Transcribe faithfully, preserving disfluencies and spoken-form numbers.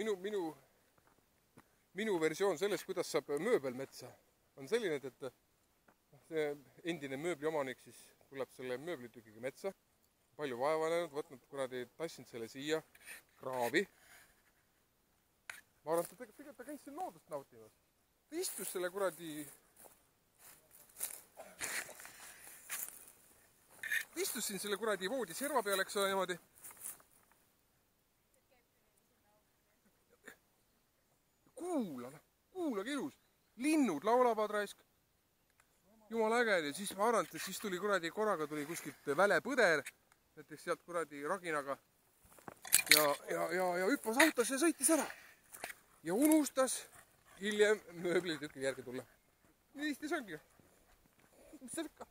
minu, minu, minu versioon sellest, kuidas saab mööbel metsa, on selline, et see endine mööbli omanik siis tuleb selle mööblitükiga metsa, palju vaeva näinud, võtnud kuradi, tassinud selle siia, kraavi. Ma arvan, et ta, tegelikult ta käis siin loodust nautimas. Ta istus selle kuradi... Ta istus siin selle kuradi voodi serva peal, eks ole niimoodi. Kuula, kuulage ilus. Linnud laulavad raisk. Jumal äge. Ja siis ma arvan, et siis tuli kuradi korraga tuli kuskilt välepõder. Näiteks sealt kuradi raginaga. Ja, ja, ja, ja hüppas autos ja sõitis ära. Ja unustas hiljem mööblitüki järgi tulla. Nii lihtne see ongi. Mis see ikka?